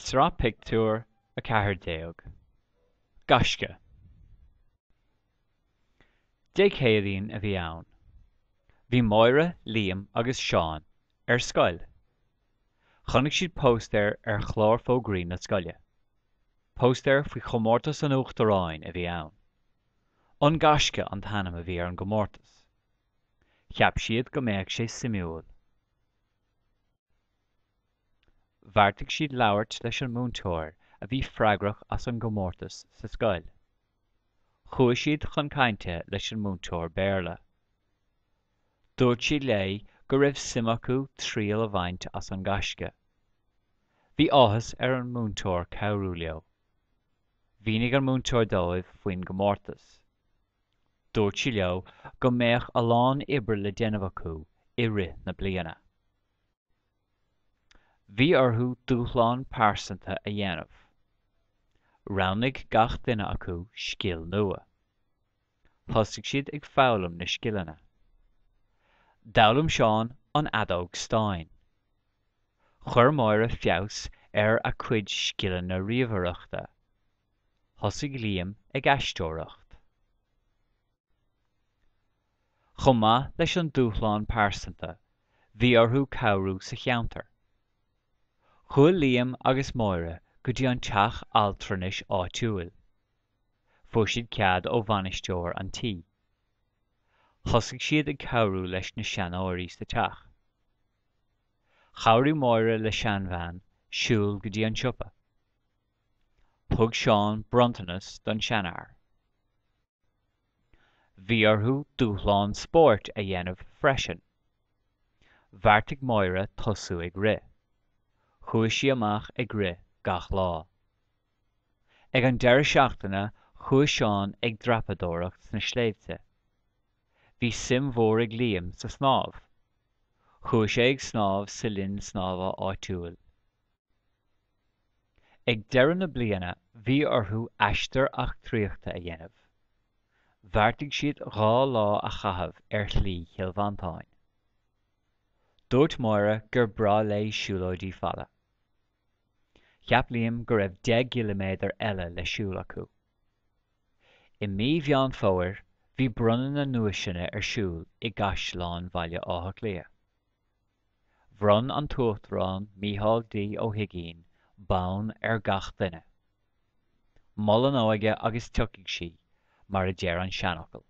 Sraith Pictiúr 14. Gaisce. Dé Céadaoin a bhí ann. Bhí Máire, Liam agus Seán ar scoil. Chonaic siad póstaer ar chlár fógraí na scoile. Póstaer faoi chomórtas an Uachtaráin a bhí ann. An Gaisce an t-ainm a bhí ar an gcomórtas. Cheap siad go mbeadh sé suimiúil. Bheartaigh siad labhairt leis an múinteoir a bhí freagrach as an gcomórtas sa scoil. Chuaigh siad chun cainte leis an múinteoir Béarla. Dúirt siad léi go raibh suim acu triail a bhaint as an Gaisce. Bhí áthas ar an múinteoir cabhrú leo. Mhínigh an múinteoir dóibh faoin gcomórtas. Dúirt sí leo go mbeadh a lán oibre le déanamh acu i rith na bliana. Bhí orthu dúshlán pearsanta a dhéanamh. Roghnaigh gach duine acu scil nua. Thosaigh siad ag foghlaim na scileanna. D'fhoghlaim Seán an fheadóg stáin. Chuir Máire feabhas ar a cuid scileanna ríomhaireachta. Thosaigh Liam ag aisteoireacht. Chomh maith leis an dúshlán pearsanta, bhí orthu cabhrú sa cheantar. Chuaigh Liam agus Máire go dtí an teach altranais áitiúil. Fuair siad cead ó bhainisteoir an tí. Thosaigh siad ag cabhrú leis na seanóirí sa teach. Chabhraigh Máire le seanbhean siúl go dtí an siopa. Thug Seán bronntanas don seanfhear. Bhí orthu dúshlán spóirt a dhéanamh freisin. Bheartaigh Máire tosú ag rith. Chuaigh sí amach ag rith gach lá. Ag an deireadh seachtaine chuaigh Seán ag dreapadóireacht sna sléibhte. Bhí suim mhór ag Liam sa snámh. Chuaigh sé ag snámh sa linn snámha áitiúil. Ag deireadh na bliana bhí orthu aistear eachtraíochta a dhéanamh. Bheartaigh siad 2 lá a chaitheamh ar Shlí Chill Mhantáin. Dúirt Máire gur breá léi siúlóidí fada. Cheap Liam go raibh 10 gciliméadar eile le siúl acu. I mí Mheán Fómhair bhí bronnadh na nduaiseanna ar siúl i gCaisleán Bhaile Átha Cliath. Bhronn an tUachtarán Micheál D. Ó hUigínn bonn ar gach duine. Mol an óige agus tiocfaidh sí, mar a deir an seanfhocal.